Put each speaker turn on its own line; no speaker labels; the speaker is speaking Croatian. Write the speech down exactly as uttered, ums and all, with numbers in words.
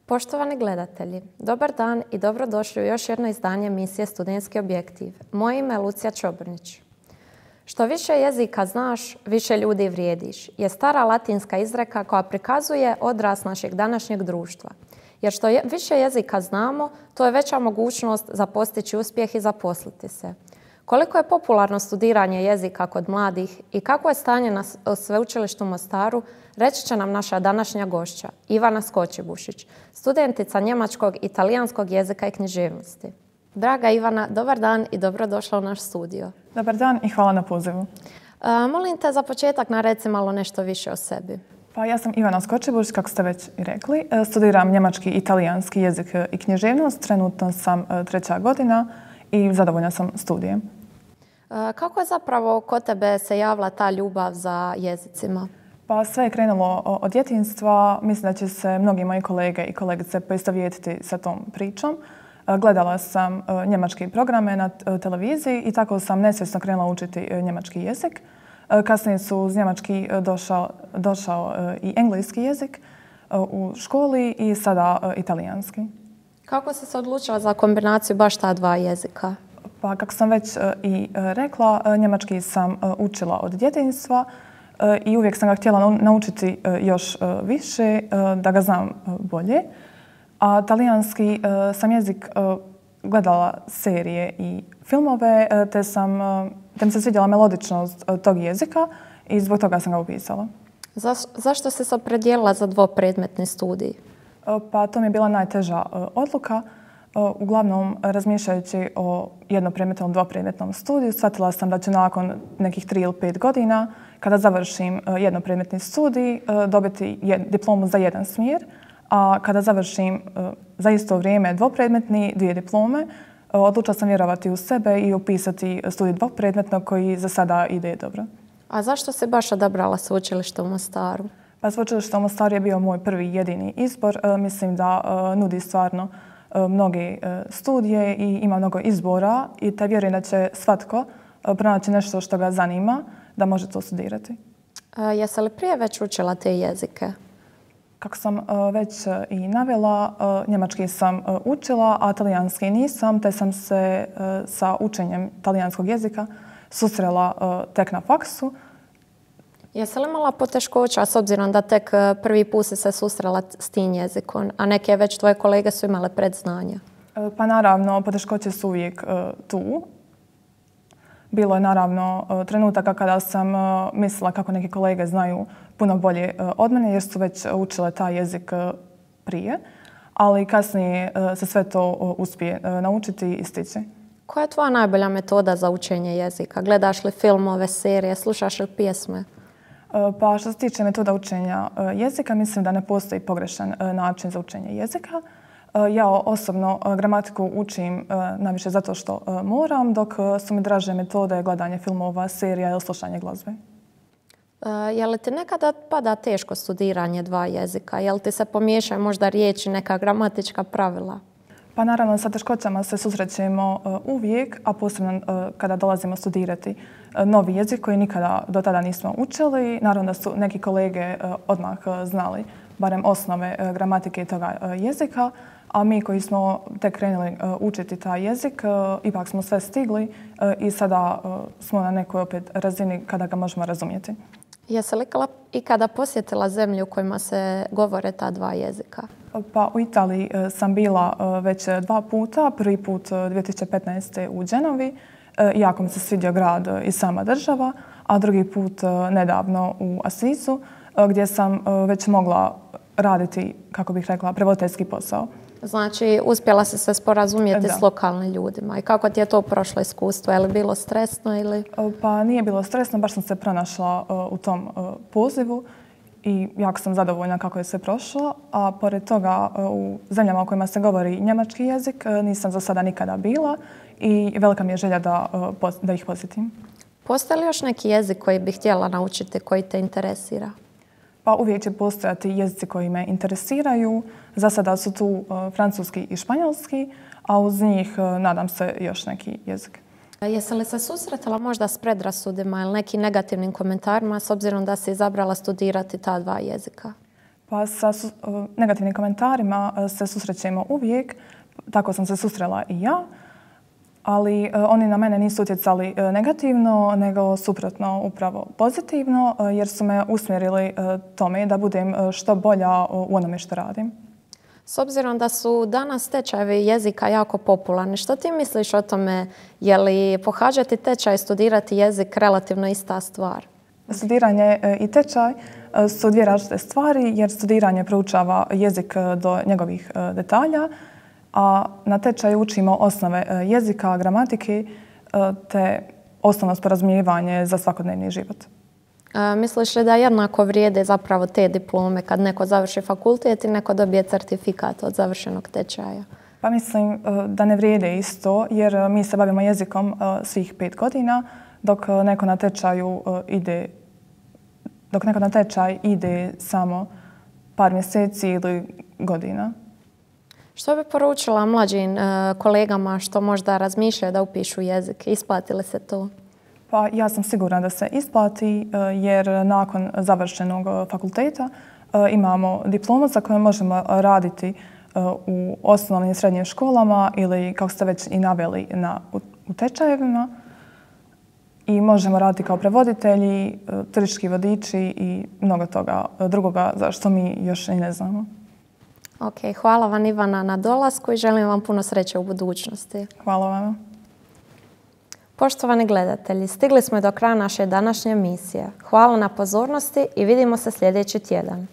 Poštovani gledatelji, dobar dan i dobrodošli u još jedno izdanje emisije Studentski objektiv. Moje ime je Lucija Čobrnić. Što više jezika znaš, više ljudi vrijediš, je stara latinska izreka koja prikazuje odraz našeg današnjeg društva. Jer što je, više jezika znamo, to je veća mogućnost za postići uspjeh i zaposliti se. Koliko je popularno studiranje jezika kod mladih i kako je stanje na sveučilištu u Mostaru, reći će nam naša današnja gošća, Ivana Skočibušić, studentica njemačkog i talijanskog jezika i književnosti. Draga Ivana, dobar dan i dobrodošla u naš studio.
Dobar dan i hvala na pozivu.
A, molim te za početak nareci malo nešto više o sebi.
Pa ja sam Ivana Skočibušić, kako ste već i rekli. Studiram njemački i talijanski jezik i književnost. Trenutno sam treća godina i zadovoljna sam studijem.
Kako je zapravo kod tebe se javila ta ljubav za jezicima?
Pa sve je krenulo od djetinjstva. Mislim da će se mnogi moji kolege i kolegice poistovjetiti sa tom pričom. Gledala sam njemačke programe na televiziji i tako sam nesvjesno krenula učiti njemački jezik. Kasnije su uz njemački došao, došao i engleski jezik u školi i sada italijanski.
Kako si se odlučila za kombinaciju baš ta dva jezika?
Pa kako sam već i rekla, njemački sam učila od djetinjstva i uvijek sam ga htjela naučiti još više, da ga znam bolje. A talijanski sam jezik gledala serije i filmove, te, sam, te mi se svidjela melodičnost tog jezika i zbog toga sam ga upisala.
Za, zašto si se opredijelila za dvopredmetni studij?
Pa to mi je bila najteža odluka. Uglavnom, razmišljajući o jednopredmetnom, dvopredmetnom studiju, shvatila sam da ću nakon nekih tri ili pet godina, kada završim jednopredmetni studij, dobiti diplomu za jedan smjer, a kada završim za isto vrijeme dvopredmetni, dvije diplome, odlučila sam vjerovati u sebe i upisati studij dvopredmetnog koji za sada ide dobro.
A zašto si baš odabrala sveučilište u Mostaru?
Pa sveučilište u Mostaru je bio moj prvi jedini izbor. Mislim da nudi stvarno mnoge studije i ima mnogo izbora i te vjerujem da će svatko pronaći nešto što ga zanima da može to studirati.
A, jesi li prije već učila te jezike?
Kako sam već i navela, njemački sam učila, a talijanski nisam, te sam se sa učenjem talijanskog jezika susrela tek na faksu.
Jesi li imala poteškoća s obzirom da tek prvi put si se susrela s tim jezikom, a neke već tvoje kolege su imale predznanja?
Pa naravno, poteškoće su uvijek tu. Bilo je naravno trenutaka kada sam mislila kako neki kolege znaju puno bolje od mene jer su već učile taj jezik prije, ali kasnije se sve to uspije naučiti i stići.
Koja je tvoja najbolja metoda za učenje jezika? Gledaš li filmove, serije, slušaš li pjesme?
Pa što se tiče metoda učenja jezika, mislim da ne postoji pogrešan način za učenje jezika. Ja osobno gramatiku učim najviše zato što moram, dok su mi draže metode gledanje filmova, serija ili slušanje glazbe.
Je li ti nekada pada teško studiranje dva jezika? Je li ti se pomiješaju možda riječi, neka gramatička pravila?
Pa naravno, sa teškoćama se susrećemo uvijek, a posebno kada dolazimo studirati novi jezik koji nikada do tada nismo učili. Naravno da su neki kolege odmah znali barem osnove gramatike toga jezika, a mi koji smo tek krenuli učiti taj jezik, ipak smo sve stigli i sada smo na nekoj opet razini kada ga možemo razumjeti.
Jesi li ikada posjetila zemlju u kojima se govore ta dva jezika?
Pa u Italiji sam bila već dva puta. Prvi put dvije tisuće petnaeste. u Genovi. Jako mi se svidio grad i sama država, a drugi put nedavno u Asizu, gdje sam već mogla raditi, kako bih rekla, prevoditeljski posao.
Znači, uspjela si se sporazumjeti
da.
s lokalnim ljudima. I kako ti je to prošlo iskustvo? Je li bilo stresno ili?
Pa nije bilo stresno, baš sam se pronašla u tom pozivu i jako sam zadovoljna kako je sve prošlo. A pored toga, u zemljama u kojima se govori njemački jezik nisam za sada nikada bila i velika mi je želja da, da ih posjetim.
Postoji li još neki jezik koji bih htjela naučiti, koji te interesira?
Pa uvijek će postojati jezici koji me interesiraju. Za sada su tu francuski i španjolski, a uz njih nadam se još neki jezik.
Jesi li se susretala možda s predrasudima ili nekim negativnim komentarima s obzirom da si izabrala studirati ta dva jezika?
Pa sa su, negativnim komentarima se susrećemo uvijek, tako sam se susrela i ja, ali oni na mene nisu utjecali negativno, nego suprotno upravo pozitivno, jer su me usmjerili tome da budem što bolja u onome što radim.
S obzirom da su danas tečajevi jezika jako popularni, što ti misliš o tome? Je li pohađati tečaj i studirati jezik relativno ista stvar?
Studiranje i tečaj su dvije različite stvari, jer studiranje proučava jezik do njegovih detalja, a na tečaju učimo osnove jezika, gramatike te osnovno sporazumijevanje za svakodnevni život.
A, misliš li da jednako vrijede zapravo te diplome kad neko završi fakultet i neko dobije certifikat od završenog tečaja?
Pa mislim da ne vrijede isto, jer mi se bavimo jezikom svih pet godina, dok neko na tečaju ide, dok neko na tečaj ide samo par mjeseci ili godina.
Što bi poručila mlađim kolegama što možda razmišljaju da upišu jezik? Isplati li se to?
Pa ja sam sigurna da se isplati, jer nakon završenog fakulteta imamo diplomu za koju možemo raditi u osnovnim i srednjim školama ili, kako ste već i naveli, na, u, u tečajevima. I možemo raditi kao prevoditelji, turistički vodiči i mnogo toga drugoga za što mi još i ne znamo.
Ok, hvala vam Ivana na dolasku i želim vam puno sreće u budućnosti.
Hvala vam.
Poštovani gledatelji, stigli smo do kraja naše današnje emisije. Hvala na pozornosti i vidimo se sljedeći tjedan.